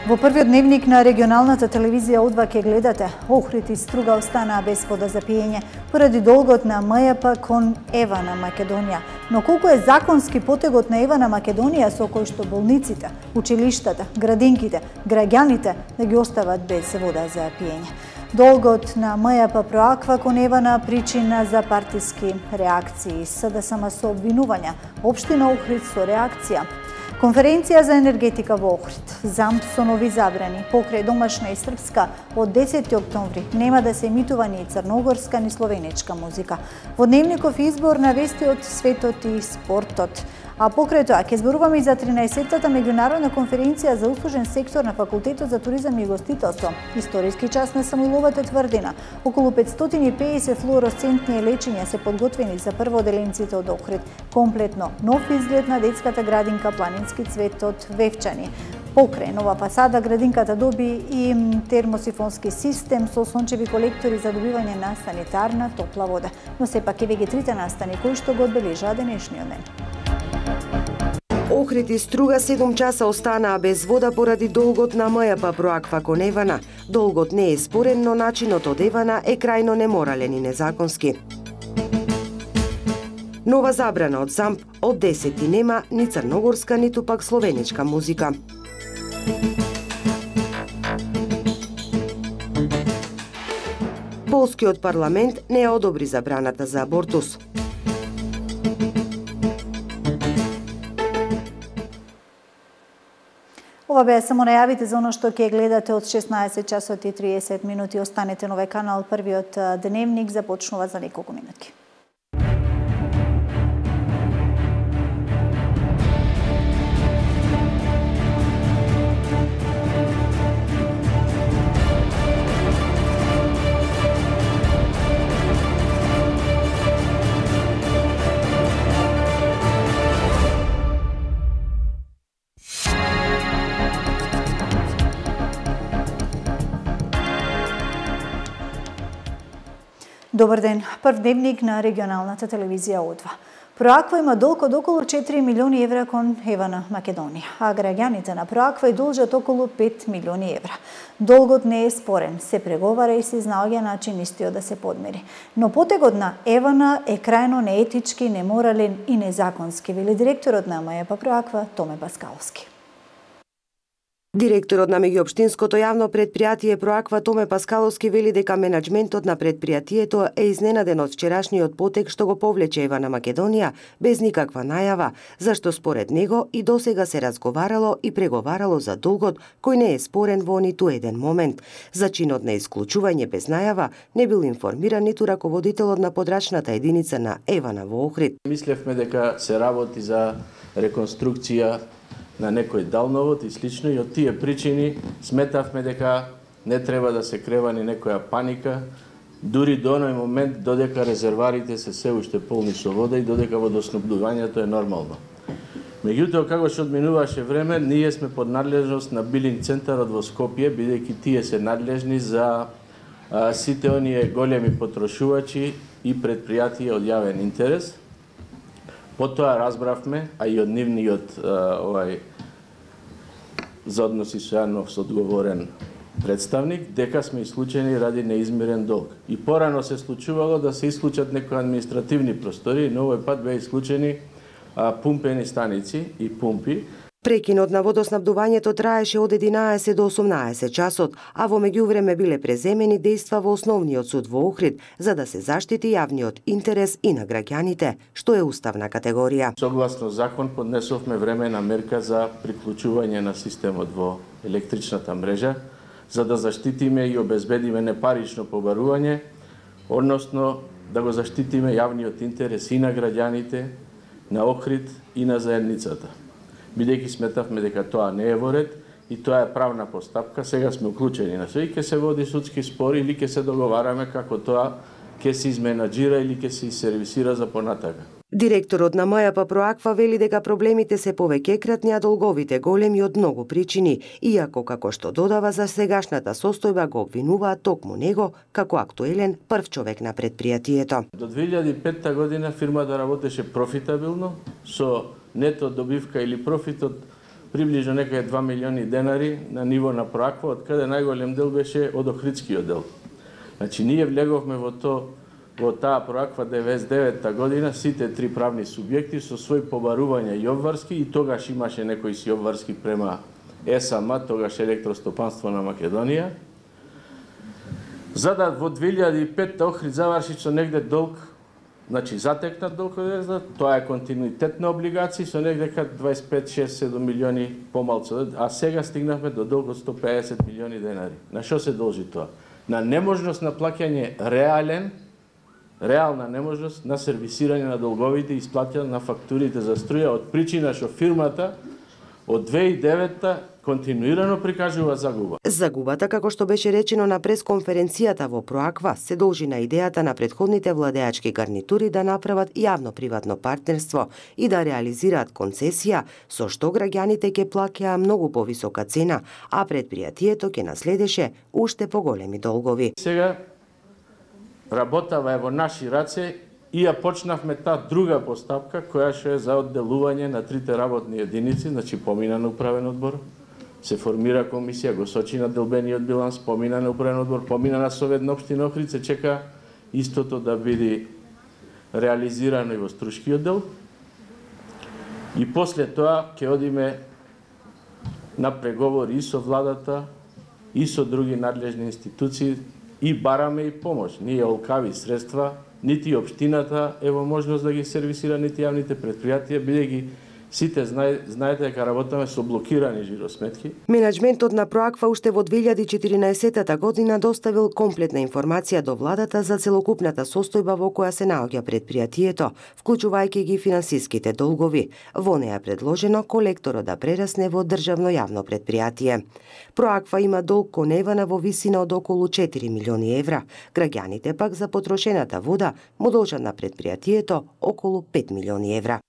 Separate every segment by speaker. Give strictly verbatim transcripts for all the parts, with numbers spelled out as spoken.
Speaker 1: Во првиот дневник на регионалната телевизија Одва ке гледате. Охрид и Струга останаа без вода за пиење поради долгот на М Ј П кон Ева на Македонија. Но колку е законски потегот на Ева на Македонија со кој што болниците, училиштата, градинките, граѓаните да ги остават без вода за пиење. Долгот на М Ј П Проаква кон Евана причина за партиски реакции. С Д С М со обвинувања, Општина Охрид со реакција. Конференција за енергетика во Охрид. ЗАМП со нови забрани. Покрај домашна и српска од десети октомври нема да се емитува ни црногорска ни словенечка музика. Во дневников избор на вести од светот и спортот. А покрај тоа ќе зборуваме и за тринаесеттата меѓународна конференција за услужен сектор на Факултетот за туризам и гостителство. Историски час на Самуиловата тврдина. Околу петстотини и педесет флуоресцентни лечења се подготвени за прводеленците од Охрид. Комплетно нов изглед на детската градинка Планински цвет од Вевчани. Покрај нова фасада градинката доби и термосифонски систем со сончеви колектори за добивање на санитарна топла вода. Но сепак еве ги трите настани кои што го одбележаа денешниот ден.
Speaker 2: Охрид и Струга седум часа останаа без вода поради долгот на М Ј П Проаква кон Евана. Долгот не е спорен, но начинот од Евана е крајно неморален и незаконски. Нова забрана од ЗАМП од десети нема ни црногорска, ниту пак словенечка музика. Полскиот парламент не ја одобри забраната за абортус.
Speaker 1: Ова беа само најавите за оно што ќе гледате од шеснаесет часот и триесет минути. Останете на овој канал. Првиот дневник започнува за неколку минути. Добар ден. Прв дневник на регионалната телевизија Одва. Проаква има долг од околу четири милиони евра кон Ева на Македонија, а граѓаните на Проаква и должат околу пет милиони евра. Долгот не е спорен, се преговара и се изнаоѓа начин истиот да се подмери. Но потегот на Евана е крајно неетички, неморален и незаконски, вели директорот на М Ј П Проаква Томе Паскаловски.
Speaker 2: Директорот на меѓуопштинското јавно претпријатие Проаква Томе Паскаловски вели дека менаџментот на претпријатието е изненаден од вчерашниот потек што го повлече Ева на Македонија без никаква најава, зашто според него и досега се разговарало и преговарало за долгот кој не е спорен во ниту еден момент. За чинот на исклучување без најава не бил информиран ниту раководителот на подрачната единица на Евана во Охрид.
Speaker 3: Мислевме дека се работи за реконструкција на некој далновод и слично, и од тие причини сметавме дека не треба да се крева ни некоја паника, дури до оној момент додека резерварите се се уште полни со вода и додека водоснабдувањето е нормално. Меѓутоа, како што одминуваше време, ние сме под надлежност на билинг центарот во Скопје, бидејќи тие се надлежни за а, сите оние големи потрошувачи и предпријатија од јавен интерес. Потоа разбравме, а и од нивниот овај за односи со јавност одговорен представник, дека сме исклучени ради неизмирен долг. И порано се случувало да се исклучат некои административни простори, но овој пат беа исклучени а, пумпени станици и пумпи.
Speaker 2: Прекинот на водоснабдувањето траеше од единаесет до осумнаесет часот, а во меѓувреме биле преземени дејства во основниот суд во Охрид за да се заштити јавниот интерес и на граѓаните, што е уставна категорија.
Speaker 3: Согласно закон поднесовме времена мерка за приклучување на системот во електричната мрежа за да заштитиме и обезбедиме непарично побарување, односно да го заштитиме јавниот интерес и на граѓаните, на Охрид и на заедницата. Бидејќи сметавме дека тоа не е во ред и тоа е правна постапка, сега сме уклучени на се и ќе се води судски спор или ќе се договараме како тоа ќе се изменаџира или ќе се сервисира за понатака.
Speaker 2: Директорот на М Ј П Проаква вели дека проблемите се повеќе кратни, а долговите големи од многу причини, иако како што додава за сегашната состојба го обвинуваат токму него како актуелен прв човек на предпријатието.
Speaker 3: До две илјади и петта година фирмата работеше профитабилно со нето добивка или профитот приближно некаде два милиони денари на ниво на Проаква, од каде најголем дел беше од Охридскиот дел. Значи, ние влеговме во то, во таа Проаква деветдесет и девета година, сите три правни субјекти со свој побарувања и обврски, и тогаш имаше некои си обврски према ЕСАМ, тогаш Електростопанство на Македонија, за да во две илјади и петта Охрид заврши со негде долг, значи затекнат долг, тоа е континуитет на облигации со негде дваесет и пет, шест, седум милиони помалку, а сега стигнавме до долг од сто педесет милиони денари. На што се должи тоа? На неможност на плаќање реален, реална неможност на сервисирање на долговите и исплаќање на фактурите за струја, од причина што фирмата од две илјади и девета континуирано прикажува загуба.
Speaker 2: Загубата, како што беше речено на пресконференцијата во Проаква, се должи на идејата на претходните владеачки гарнитури да направат јавно-приватно партнерство и да реализираат концесија, со што граѓаните ќе плаќаа многу повисока цена, а предпријатието ќе наследеше уште поголеми долгови.
Speaker 3: Сега работава е во наши раце и ја почнавме таа друга постапка, која што е за одделување на трите работни единици, значи помина на управен одбор, се формира комисија, го сочи на делбениот биланс, помина на управен одбор, помина на Совет на општина Охрид, се чека истото да биде реализирано и во струшкиот дел. И после тоа ќе одиме на преговори и со владата, и со други надлежни институции, и бараме и помош. Ние олкави средства, нити општината е во можност да ги сервисира, нити јавните предпријатија, бидејќи сите знаете дека работаме со блокирани жиросметки.
Speaker 2: Менеджментот на Проаква уште во две илјади и четиринаесета година доставил комплетна информација до владата за целокупната состојба во која се наоѓа предпријатието, вклучувајќи ги финансиските долгови. Во неја предложено колекторот да прерасне во државно јавно предпријатие. Проаква има долг кон Евана во висина од околу четири милиони евра. Граѓаните пак за потрошената вода му должат на предпријатието околу пет милиони евра.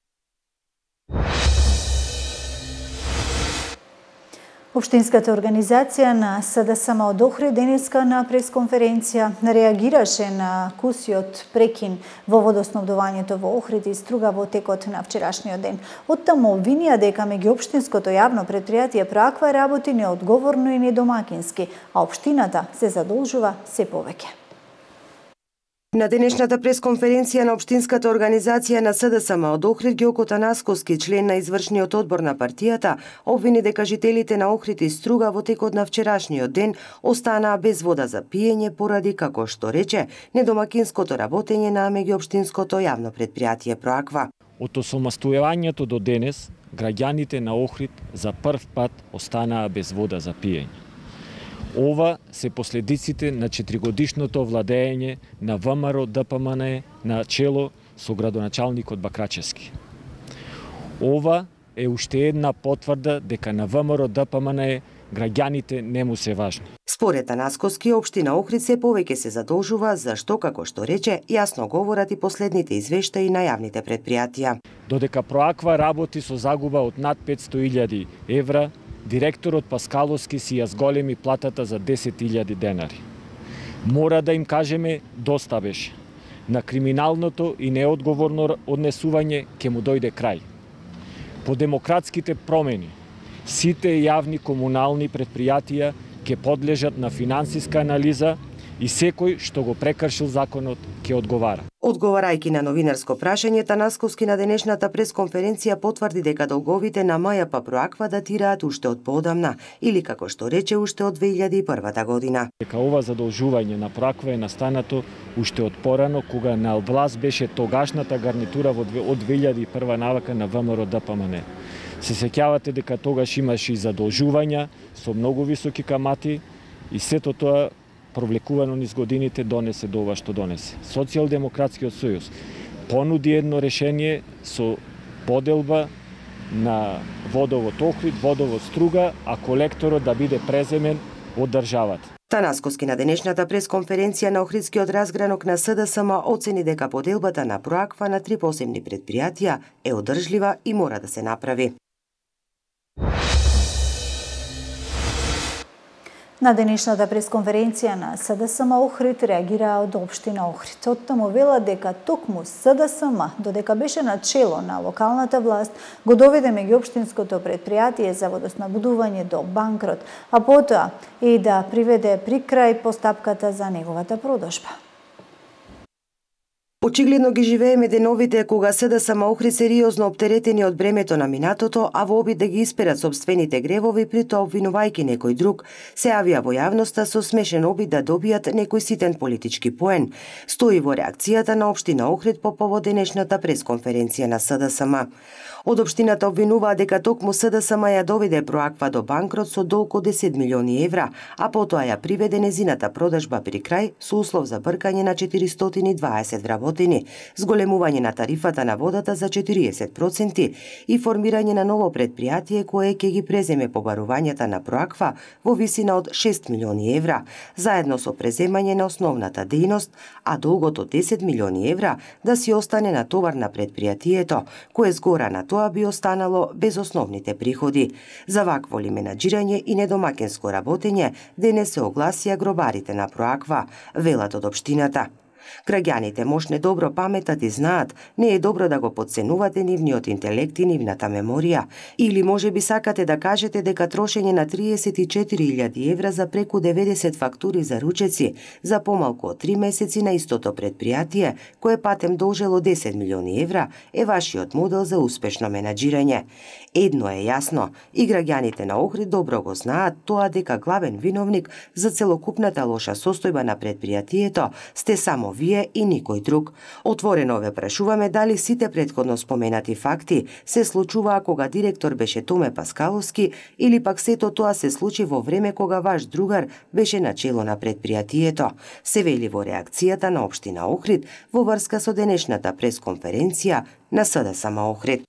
Speaker 1: Општинската организација на СДСМ од Охрид денеска на пресконференција реагираше на кусиот прекин во водоснабдувањето во Охрид и Струга во текот на вчерашниот ден. Оттаму обвинија дека меѓуопштинското јавно предпријатие Проаква работи неодговорно и недомакински, а општината се задолжува се повеќе.
Speaker 2: На денешната пресконференција на Општинската организација на СДСМ од Охрид, Ѓоко Танасковски, член на извршниот одбор на партијата, обвини дека жителите на Охрид и Струга во текот на вчерашниот ден останаа без вода за пиење поради, како што рече, недомакинското работење на меѓуопштинското јавно предпријатие Проаква.
Speaker 4: Од осамостојувањето до денес, граѓаните на Охрид за прв пат останаа без вода за пиење. Ова се последиците на четиригодишното владење на ВМРО ДПМН на чело со градоначалникот Бакрачевски. Ова е уште една потврда дека на ВМРО ДПМН граѓаните не му се важни.
Speaker 2: Според Танасковски, општина Охрид се повеќе се задолжува, зашто, како што рече, јасно говорат и последните извештаи на јавните предпријатија.
Speaker 4: Додека Проаква работи со загуба од над петсто илјади евра, директорот Паскаловски си ја зголеми платата за десет илјади денари. Мора да им кажеме доста беше. На криминалното и неодговорно однесување ќе му дојде крај. По демократските промени, сите јавни комунални предпријатија ќе подлежат на финансиска анализа и секој што го прекршил законот ќе одговара.
Speaker 2: Одговарајќи на новинарско прашање, Танасковски на денешната пресконференција потврди дека долговите на МЈП Проаква датираат уште од поодамна, или како што рече уште од две илјади и првата година.
Speaker 4: Дека ова задолжување на Проаква е настанато уште од порано, кога на власт беше тогашната гарнитура од две илјади и прва навака на ВМРО ДПМН. Се сеќавате дека тогаш имаше и задолжувања со многу високи камати и сето тоа провлекувано низ годините донесе до ова што донесе. Социјалдемократскиот сојуз понуди едно решение со поделба на водовод Охрид, водовод Струга, а колекторот да биде преземен од државата.
Speaker 2: Танасковски на денешната пресконференција на Охридскиот разгранок на СДСМ оцени дека поделбата на Проаква на три посебни предпријатија е одржлива и мора да се направи.
Speaker 1: На денешната пресконференција на СДСМ Охрид реагираа од општина Охрид. Оттаму вела дека токму СДСМ, додека беше на чело на локалната власт, го доведе меѓуопштинското предпријатие за водоснабдување до банкрот, а потоа и да приведе при крај постапката за неговата продажба.
Speaker 2: Очигледно ги живееме деновите кога СДСМ Охрид сериозно оптеретени од бремето на минатото, а во обид да ги исперат собствените гревови, при тоа обвинувајќи некој друг, се јавија во јавноста со смешен обид да добијат некој ситен политички поен. Стои во реакцијата на општина Охрид по повод денешната пресконференција на СДСМ. Од општината обвинуваа дека токму СДСМ ја доведе Проаква до банкрот со долг од десет милиони евра, а потоа ја приведе незината продажба при крај со услов за бркање на четиристотини и дваесет вработени, зголемување на тарифата на водата за четириесет проценти и формирање на ново предпријатие кое ќе ги преземе побарувањата на Проаква во висина од шест милиони евра, заедно со преземање на основната дејност, а долгот од десет милиони евра да си остане на товар на предпријатието, кое згора на тоа би останало без основните приходи. За вакво ли менаџирање и недомакинско работење денес се огласија гробарите на Проаква, велат од општината. Граѓаните можне добро паметат и знаат, не е добро да го подценувате нивниот интелект и нивната меморија. Или може би сакате да кажете дека трошење на триесет и четири илјади евра за преку деветдесет фактури за ручеци за помалку од три месеци на истото предпријатие, кое патем должело десет милиони евра, е вашиот модел за успешно менаџирање. Едно е јасно, и граѓаните на Охрид добро го знаат тоа дека главен виновник за целокупната лоша состојба на предпријатието сте само вие и никој друг. Отворено ве прашуваме дали сите претходно споменати факти се случуваа кога директор беше Томе Паскаловски или пак сето тоа се случи во време кога ваш другар беше на чело на предпријатието, се вели во реакцијата на општина Охрид во врска со денешната пресконференција на СДСМ Охрид.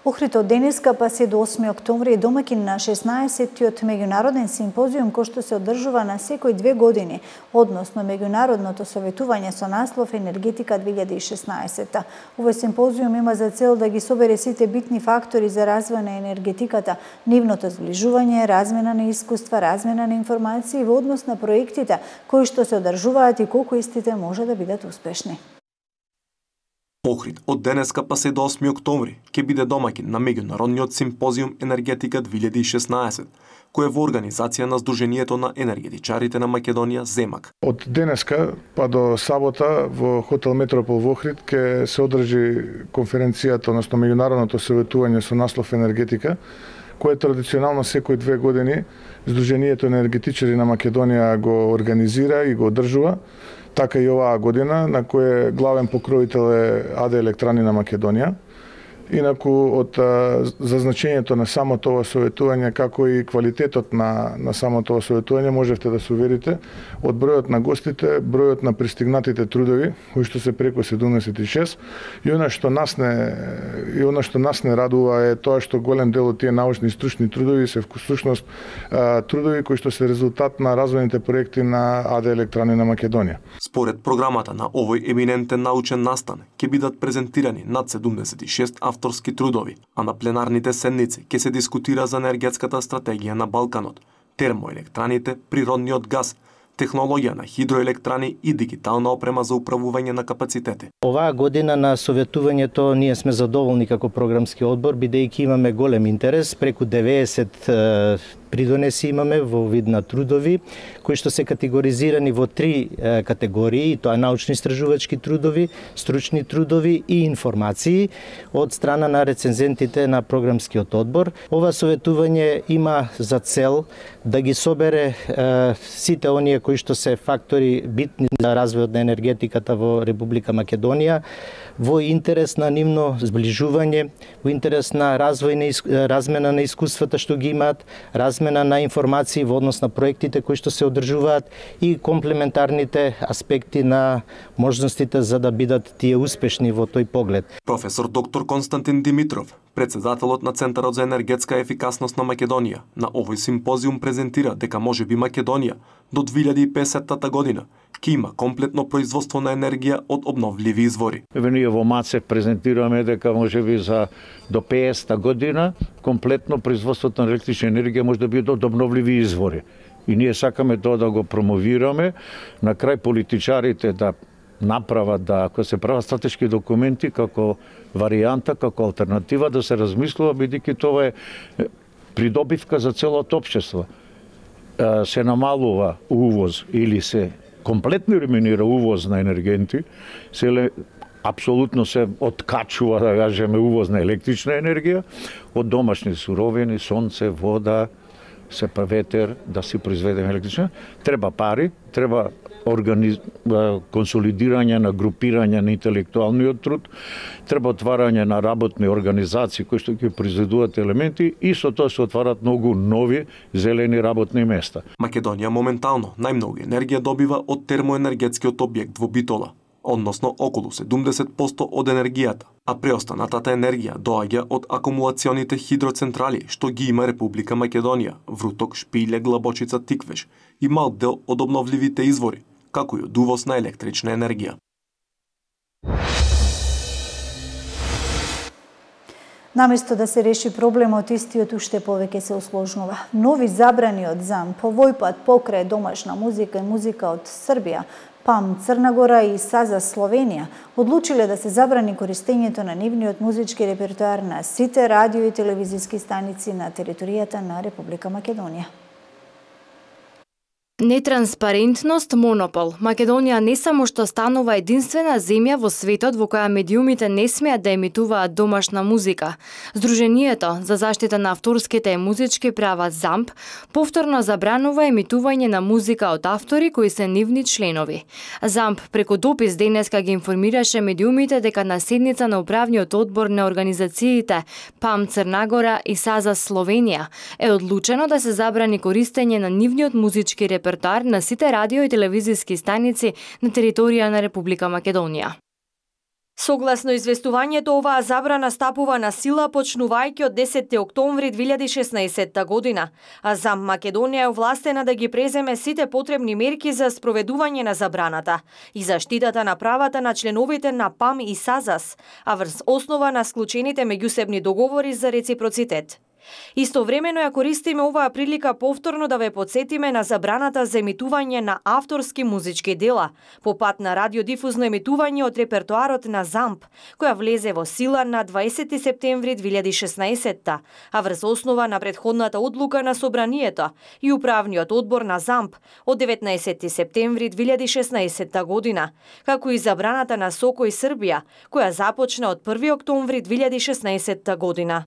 Speaker 1: Охрид од денеска па се до осми октомври е домакин на шеснаесеттиот меѓународен симпозиум кој што се одржува на секој две години, односно меѓународното советување со наслов Енергетика две илјади и шеснаесетта. Овој симпозиум има за цел да ги собере сите битни фактори за развој на енергетиката, нивното зближување, размена на искуства, размена на информации во однос на проектите кои што се одржуваат и колку истите може да бидат успешни.
Speaker 5: Охрид од денеска па се до осми октомври ќе биде домакин на меѓународниот симпозиум Енергетика две илјади и шеснаесет, кој е во организација на Сдруженијето на енергетичарите на Македонија Земак.
Speaker 6: Од денеска па до сабота во хотел Метропол во Охрид ќе се одржи конференцијата, односно меѓународното советување со наслов Енергетика, кое традиционално секој две години Сдруженијето на енергетичари на Македонија го организира и го одржува. Така и оваа година, на кој главен покровител е АД Електрани на Македонија. Инаку од за значењето на самото ова советување, како и квалитетот на, на самото ова советување, можевте да се уверите од бројот на гостите, бројот на пристигнатите трудови, кои што се преку седумдесет и шест, и она што нас не и она што нас не радува е тоа што голем дел од тие научни и стручни трудови се всушност трудови кои што се резултат на развојните проекти на АД Електрани на Македонија.
Speaker 5: Според програмата на овој еминентен научен настан ќе бидат презентирани над седумдесет и шест авторски трудови, а на пленарните седници ќе се дискутира за енергетската стратегија на Балканот, термоелектраните, природниот газ, технологија на хидроелектрани и дигитална опрема за управување на капацитети.
Speaker 7: Оваа година на советувањето ние сме задоволни како програмски одбор, бидејќи имаме голем интерес, преку деветдесет придонеси имаме во вид на трудови, кои што се категоризирани во три е, категории, тоа е научно-истражувачки трудови, стручни трудови и информации од страна на рецензентите на програмскиот одбор. Ова советување има за цел да ги собере е, сите оние кои што се фактори битни за развојот на енергетиката во Република Македонија, во интерес на нивно зближување, во интерес на развој на размена на искуствата што ги имаат, размена на информации во однос на проектите кои што се одржуваат и комплементарните аспекти на можностите за да бидат тие успешни во тој поглед.
Speaker 5: Професор доктор Константин Димитров, Председателот на Центарот за енергетска ефикасност на Македонија на овој симпозиум презентира дека можеби Македонија до две илјади и песетта година ќе има комплетно производство на енергија од обновливи извори.
Speaker 8: Еве ние во МАЦЕ презентираме дека можеби за до песетта година комплетно производството на електрична енергија може да биде од обновливи извори. И ние сакаме тоа да го промовираме, на крај политичарите да направат да ако се прават стратешки документи како варијанта, како алтернатива да се размислува, бидејќи тоа е придобивка за целото општество. Се намалува увоз или се комплетно елиминира увоз на енергенти, се апсолутно се откачува, да кажеме, увоз на електрична енергија од домашни суровини, сонце, вода, се ветер, да си произведеме електрична. Треба пари, треба организ... консолидирање на групирање на интелектуалниот труд, треба отварање на работни организации кои што ќе произведуваат елементи и со тоа се отварат многу нови зелени работни места.
Speaker 5: Македонија моментално најмногу енергија добива од термоенергетскиот објект во Битола, односно околу седумдесет проценти од енергијата, а преостанатата енергија доаѓа од акумулационите хидроцентрали што ги има Република Македонија, Вруток, Шпиле, Глабочица, Тиквеш и мал дел од обновливите извори, како и од увоз на електрична енергија.
Speaker 1: Наместо да се реши проблемот, истиот уште повеќе се осложнува. Нови забрани од ЗАМП, овој пат покрај домашна музика и музика од Србија, ПАМ Црна Гора и САЗА Словенија одлучиле да се забрани користењето на нивниот музички репертоар на сите радио и телевизиски станици на територијата на Република Македонија.
Speaker 9: Нетранспарентност, монопол. Македонија не само што станува единствена земја во светот во која медиумите не смеат да емитуваат домашна музика. Сдруженијето за заштита на авторските и музички права ЗАМП повторно забранува емитување на музика од автори кои се нивни членови. ЗАМП преку допис денеска ги информираше медиумите дека на седница на управниот одбор на организациите ПАМ Црна Гора и САЗА Словенија е одлучено да се забрани користење на нивниот музички репертоар репертоар на сите радио и телевизиски станици на територија на Република Македонија. Согласно известувањето, оваа забрана стапува на сила почнувајќи од десетти октомври две илјади и шеснаесетта година, а ЗАМП Македонија е овластена да ги преземе сите потребни мерки за спроведување на забраната и заштитата на правата на членовите на ПАМ и САЗАС, а врз основа на склучените меѓусебни договори за реципроцитет. Истовремено ја користиме оваа прилика повторно да ве потсетиме на забраната за емитување на авторски музички дела по пат на радиодифузно емитување од репертоарот на ЗАМП, која влезе во сила на дваесетти септември две илјади и шеснаесетта, а врз основа на претходната одлука на Собранието и управниот одбор на ЗАМП од деветнаесетти септември две илјади и шеснаесетта година, како и забраната на СОКО и Србија, која започна од први октомври две илјади и шеснаесетта година.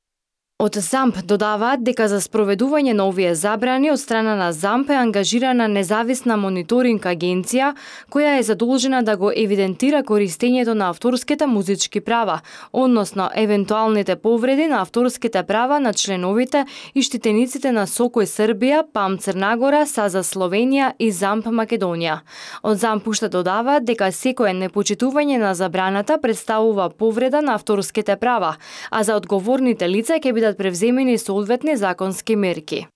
Speaker 9: Од ЗАМП додаваат дека за спроведување на овие забрани од страна на ЗАМП е ангажирана независна мониторинг агенција која е задолжена да го евидентира користењето на авторските музички права, односно евентуалните повреди на авторските права на членовите и штитениците на СОКО и Србија, ПАМ Црна Гора, САЗА Словенија и ЗАМП Македонија. Од ЗАМП уште додаваат дека секое непочитување на забраната представува повреда на авторските права, а за одговорните лица ќе бидат превземени соодветни законски мерки.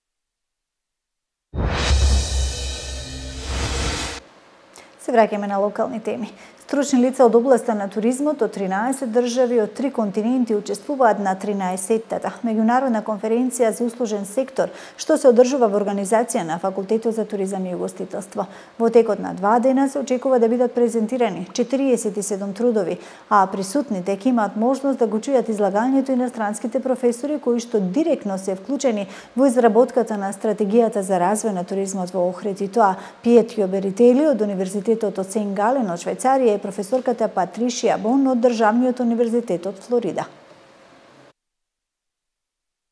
Speaker 1: Се враќаме на локални теми. Стручни лица од областа на туризмот од тринаесет држави од три континенти учествуваат на тринаесеттата меѓународна конференција за услужен сектор, што се одржува во организација на Факултетот за туризам и угостителство. Во текот на два дена се очекува да бидат презентирани четириесет и седум трудови, а присутните ќе имаат можност да го чујат излагањето иностранските професори кои што директно се вклучени во изработката на стратегијата за развој на туризмот во Охрид, и тоа Пиетрио Берители од Универзитетот од Сен Гален од Швајцарија и професорката Патришија Бон од Државниот универзитет од Флорида.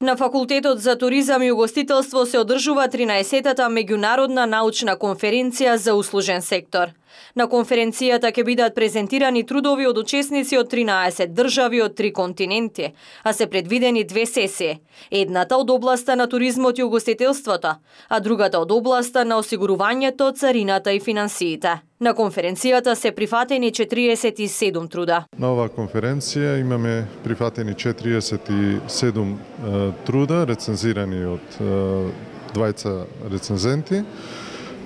Speaker 9: На Факултетот за туризам и угостителство се одржува тринаесеттата меѓународна научна конференција за услужен сектор.
Speaker 10: На конференцијата ќе бидат презентирани трудови од учесници од тринаесет држави од три континенти, а се предвидени две сесии. Едната од областа на туризмот и угостителството, а другата од областа на осигурувањето, царината и финансиите. На конференцијата се прифатени четириесет и седум труда.
Speaker 11: На оваа конференција имаме прифатени четириесет и седум е, труда, рецензирани од е, двајца рецензенти.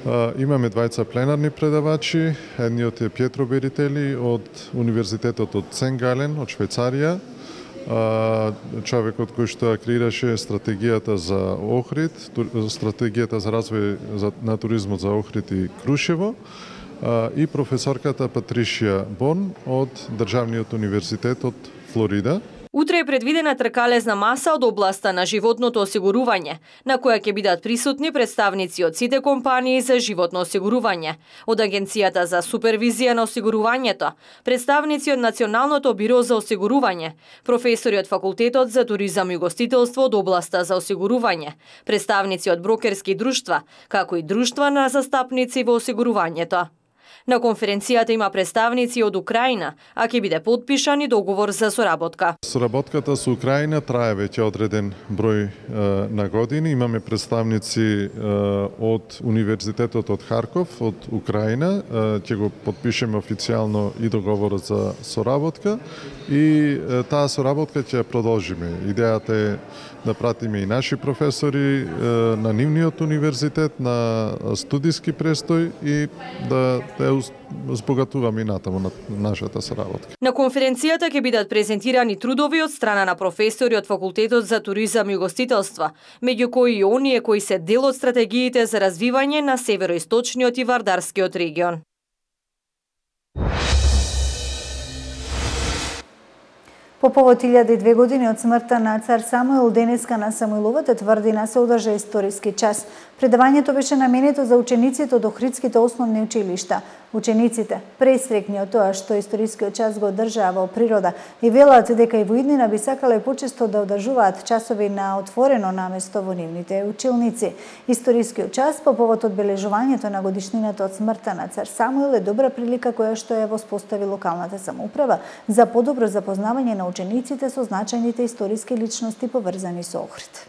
Speaker 11: Uh, имаме двајца пленарни предавачи, едниот е Пјетро Берители од Универзитетот од Сен-Гален, од Швајцарија, uh, човекот кој што креираше стратегијата за Охрид, стратегијата за развој на туризмот за Охрид и Крушево, uh, и професорката Патришија Бон од Државниот универзитет од Флорида.
Speaker 10: Утре е предвидена тркалезна маса од областа на животното осигурување, на која ќе бидат присутни представници од сите компании за животно осигурување, од Агенцијата за супервизија на осигурувањето, представници од Националното биро за осигурување, професори од Факултетот за туризам и угостителство од областа за осигурување, представници од брокерски друштва, како и друштва на застапници во осигурувањето. На конференцијата има представници од Украина, а ќе биде подпишан и договор за соработка.
Speaker 11: Соработката со Украина трае веќе одреден број е, на години. Имаме представници е, од Универзитетот од Харков, од Украина. Е, ќе го подпишеме официјално и договорот за соработка и е, таа соработка ќе ја продолжиме. Идејата е да пратиме и наши професори е, на нивниот универзитет, на студиски престој и да, да збогатуваме и натаму на нашата соработка.
Speaker 10: На конференцијата ќе бидат презентирани трудови од страна на професори од Факултетот за туризам и угостителство, меѓу кои и оние кои се дел од стратегиите за развивање на североисточниот и вардарскиот регион.
Speaker 1: По повод илјада и две години од смртта на цар Самуил, денеска на Самуиловата тврдина се одржа историски час. Предавањето беше наменето за учениците од Охридските основни училишта. Учениците, пресрекни од тоа што историскиот час го одржаа во природа и велат дека и во иднина би сакале почесто да одржуваат часови на отворено наместо во нивните училници. Историскиот час по повод одбележувањето на годишнината од смртта на цар Самуил е добра прилика која што ја воспостави локалната самоуправа за подобро запознавање на учениците со значајните историски личности поврзани со Охрид.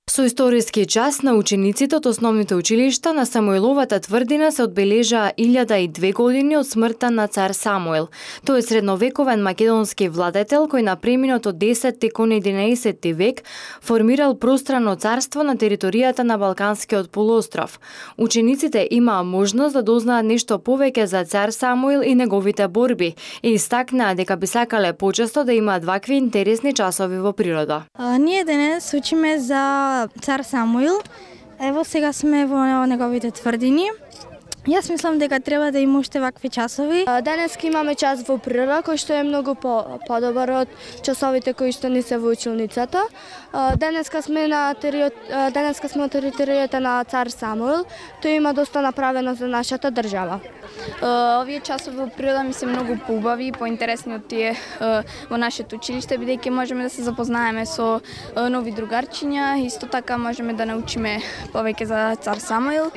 Speaker 9: Со историски час на учениците од основните училишта на Самуиловата тврдина се одбележаа илјада и две години од смртта на цар Самуил. Тој е средновековен македонски владетел кој на преминот од десетти кон единаесетти век формирал пространо царство на територијата на Балканскиот полуостров. Учениците имаа можност да дознаат нешто повеќе за цар Самуил и неговите борби и истакнаа дека би сакале почесто да имаат вакви интересни часови во природа.
Speaker 12: А, ние денес учиме за цар Самуил. Ево сега сме во неговите тврдини. Јас мислам дека треба да има уште вакви часови.
Speaker 13: Денес имаме час во природа кој што е многу по подобар од часовите кои што не се во училницата. Денеска сме на териот... денеска сме на територијата на цар Самуил. Тој има доста направено за нашата држава.
Speaker 14: Овие часови во природа ми се многу поубави и поинтересни од тие во нашето училиште, бидејќи можеме да се запознаеме со нови другарчиња, исто така можеме да научиме повеќе за цар Самуил.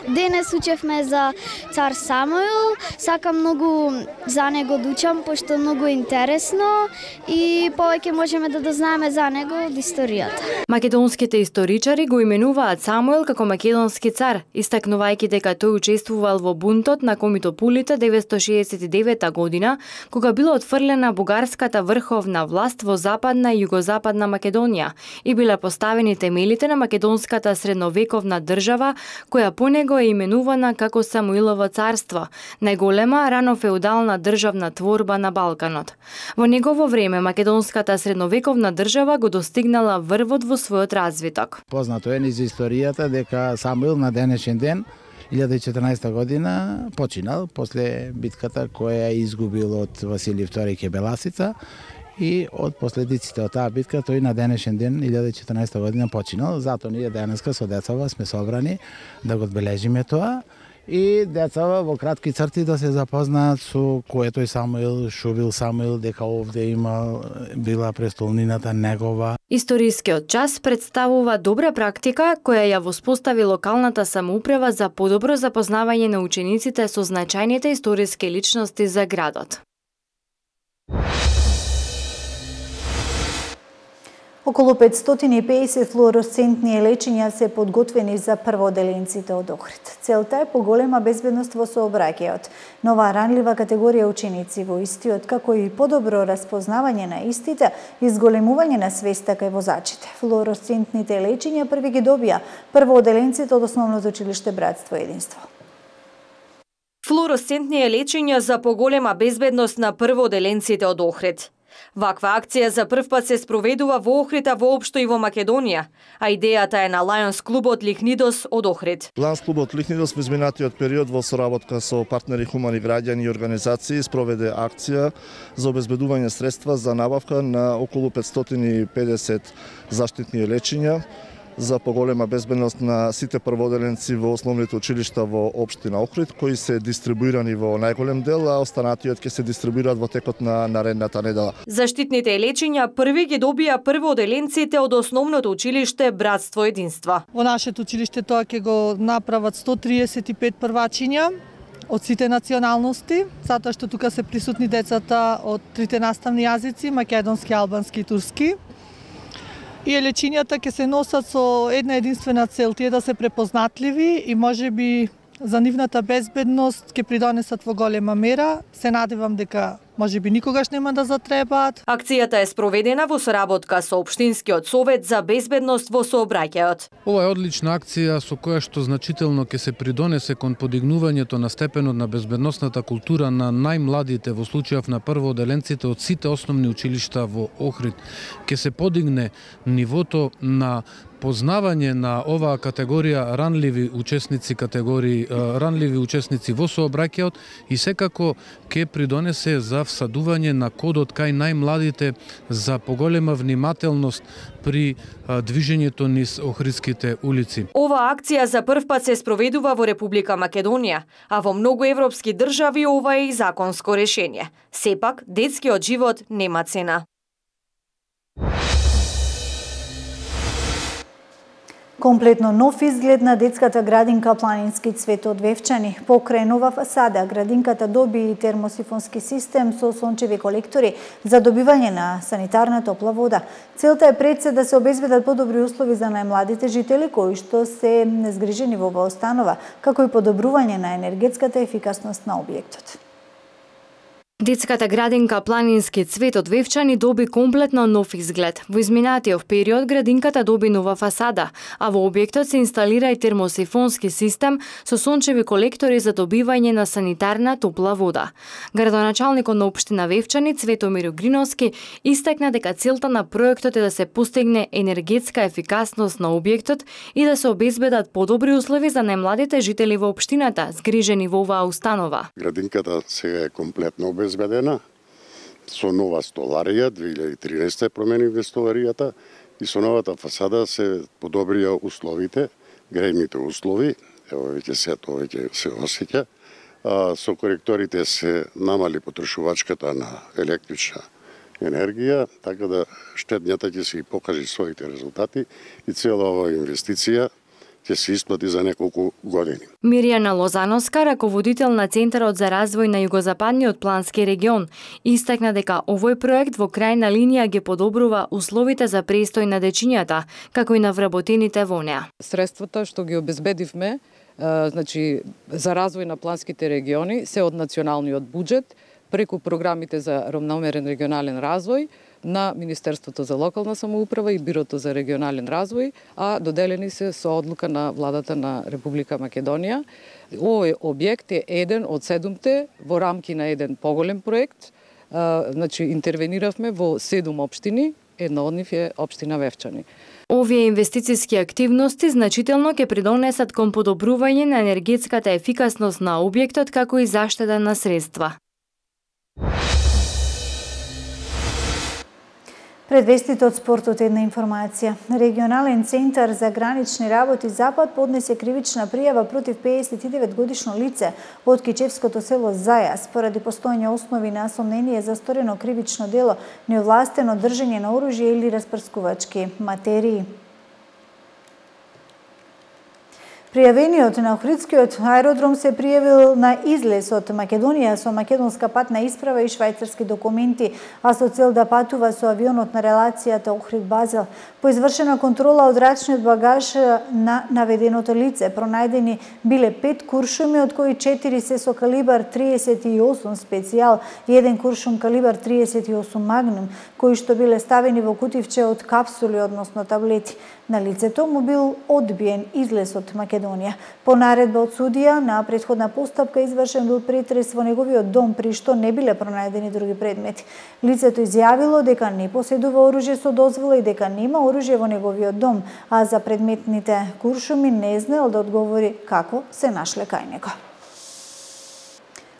Speaker 15: Денес учевме за цар Самуил, сакам многу за него да учам, пошто многу интересно и повеќе можеме да дознаеме за него од историјата.
Speaker 9: Македонските историчари го именуваат Самуил како македонски цар, истакнувајќи дека тој учествувал во бунтот на комитополите деветстотини шеесет и девета година, кога била отфрлена бугарската врховна власт во западна и југозападна Македонија и биле поставени темелите на македонската средновековна држава, која по него е именувана како Самуилово царство, најголема рано феудална државна творба на Балканот. Во негово време македонската средновековна држава го достигнала врвот во својот развиток.
Speaker 16: Познато е низ историјата дека Самуил на денешен ден илјада и четрнаесета година починал после битката која изгубил од Василий втори ке Беласица и од последиците од таа битка тој на денешен ден илјада и четрнаесета година починал. Затоа ние денеска со децава сме собрани да го одбележиме тоа и децава во кратки црти да се запознаат со кој е тој Самуил, шо бил Самуил, дека овде има била престолнината негова.
Speaker 9: Историскиот час представува добра практика која ја воспостави локалната самоуправа за подобро запознавање на учениците со значајните историски личности за градот.
Speaker 1: Околу петстотини и педесет флуоресцентни лечиња се подготвени за прводеленците од Охрид. Целта е поголема безбедност во сообраќајот, нова ранлива категорија ученици во истиот, како и подобро распознавање на истите и зголемување на свеста кај возачите. Флуоресцентните лечиња први ги добија прводеленците од Основното училиште Братство и Единство.
Speaker 10: Флуоресцентни лечиња за поголема безбедност на прводеленците од Охрид. Ваква акција за прв пат се спроведува во Охрид, а воопшто и во Македонија, а идејата е на Лајонс клубот Лихнидос од Охрид.
Speaker 17: Лајонс клубот Лихнидос во изминатиот период во соработка со партнери хумани граѓани и организации спроведе акција за обезбедување средства за набавка на околу петстотини и педесет заштитни лечиња за поголема безбедност на сите прводеленци во основните училишта во општина Охрид, кои се дистрибуирани во најголем дел, а останатиот ќе се дистрибуираат во текот на наредната недела.
Speaker 10: Заштитните лечиња први ги добија прводеленците од Основното училиште Братство Единства.
Speaker 18: Во нашето училиште тоа ќе го направат сто триесет и пет првачиња од сите националности, затоа што тука се присутни децата од трите наставни јазици, македонски, албански и турски. И лечињата ќе се носат со една единствена цел, тие да се препознатливи и можеби за нивната безбедност ќе придонесат во голема мера. Се надевам дека можеби никогаш нема да затребаат.
Speaker 10: Акцијата е спроведена во соработка со Општинскиот совет за безбедност во сообраќајот.
Speaker 19: Ова е одлична акција со која што значително ќе се придонесе кон подигнувањето на степенот на безбедносната култура на најмладите, во случајов на прводеленците од сите основни училишта во Охрид. Ќе се подигне нивото на познавање на оваа категорија ранливи учесници, категории ранливи учесници во сообраќајот и секако ќе придонесе за всадување на кодот кај најмладите за поголема внимателност при движењето низ охридските улици.
Speaker 10: Ова акција за прв пат се спроведува во Република Македонија, а во многу европски држави ова е и законско решение. Сепак, детскиот живот нема цена.
Speaker 1: Комплетно нов изглед на детската градинка Планински цвет од Вевчани. Покрај нова фасада, градинката доби и термосифонски систем со сончеви колектори за добивање на санитарна топла вода. Целта е пред се да се обезбедат подобри услови за најмладите жители кои што се незгрижени во оваа установа, како и подобрување на енергетската ефикасност на објектот.
Speaker 9: Детската градинка Планински цвет од Вевчани доби комплетно нов изглед. Во изминатиот период градинката доби нова фасада, а во објектот се инсталира и термосифонски систем со сончеви колектори за добивање на санитарна топла вода. Градоначалникот на општина Вевчани Цветомир Гриновски истакна дека целта на проектот е да се постигне енергетска ефикасност на објектот и да се обезбедат подобри услови за најмладите жители во општината, згрижени во оваа установа.
Speaker 20: Градинката сега е комплетно обезбедена со нова столарија, две илјади и тринаесетте променивме столаријата и со новата фасада се подобрија условите, грејните услови, ево веќе се тоа веќе се осеќа. Со коректорите се намали потрошувачката на електрична енергија, така да штеднијата ќе се и покажи своите резултати и цела оваа инвестиција ќе се исплати за неколку години.
Speaker 9: Мирјана Лозановска, раководител на Центарот за развој на југозападниот плански регион, истакна дека овој проект во крајна линија ги подобрува условите за престој на дечињата, како и на вработените во неа.
Speaker 21: Средствата што ги обезбедивме, значи за развој на планските региони се од националниот буџет преку програмите за равномерен регионален развој на Министерството за локална самоуправа и Бирото за регионален развој, а доделени се со одлука на владата на Република Македонија. Овој објект е еден од седумте во рамки на еден поголем проект. Значи интервениравме во седум општини, една од нив е општина Вевчани.
Speaker 9: Овие инвестициски активности значително ќе придонесат кон подобрување на енергетската ефикасност на објектот, како и заштеда на средства.
Speaker 1: Пред вестите од спортот една информација. Регионален центар за гранични работи Запад поднесе кривична пријава против пеесет и девет годишно лице од кичевското село Зајас поради постоење основи на сомнение за сторено кривично дело, неовластено држење на оружје или распрскувачки материи. Пријавениот на Охридскиот аеродром се пријавил на излез од Македонија со македонска патна исправа и швајцарски документи, а со цел да патува со авионот на релацијата Охрид-Базел. По извршена контрола од рачниот багаж на наведеното лице пронајдени биле пет куршуми, од кои четири се со калибар триесет и осум специјал и еден куршум калибар триесет и осум магнум, кои што биле ставени во кутивче од капсули, односно таблети. На лицето му бил одбиен излез од Македонија. По наредба од судија, на претходна постапка извршен бил претрес во неговиот дом, при што не биле пронајдени други предмети. Лицето изјавило дека не поседува оружје со дозвола и дека нема оружје во неговиот дом, а за предметните куршуми не знаел да одговори како се нашле кај него.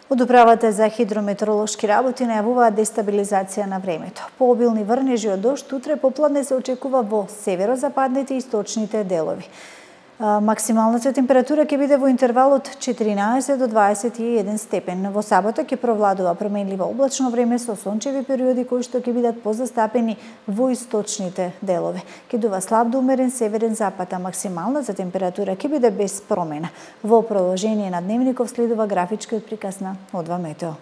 Speaker 1: Од управата за хидрометеоролошки работи најавуваат дестабилизација на времето. Пообилни врнежи од дожд утре попладне се очекува во северозападните и источните делови. Максималната температура ќе биде во интервал од четиринаесет до дваесет и еден степен. Во сабота ќе провладува променливо облачно време со сончеви периоди кои што ќе бидат позастапени во источните делови. Ќе дува слаб до умерен северен запад, а максималната температура ќе биде без промена. Во продолжение на дневников следува графичкиот приказ на Одва Метео.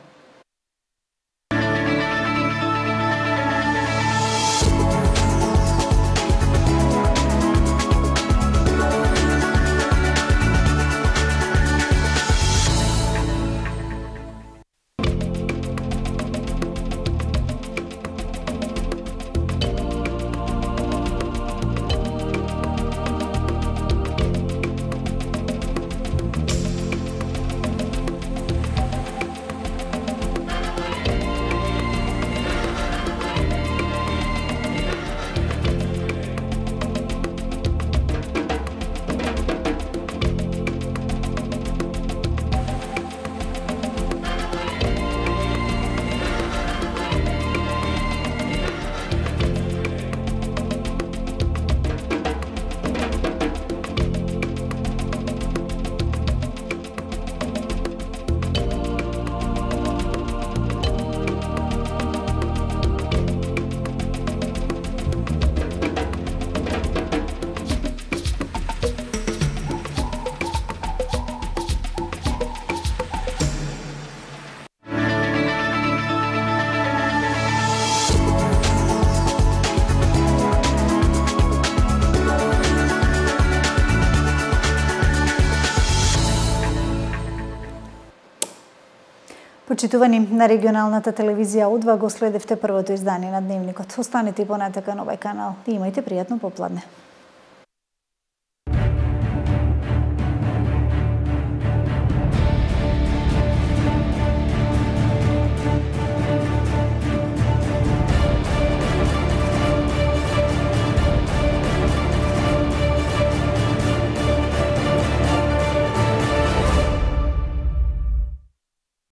Speaker 1: Почитувани, на регионалната телевизија Удва го следевте првото издание на Дневникот. Останете и понатака на овој канал и имајте пријатно попладне.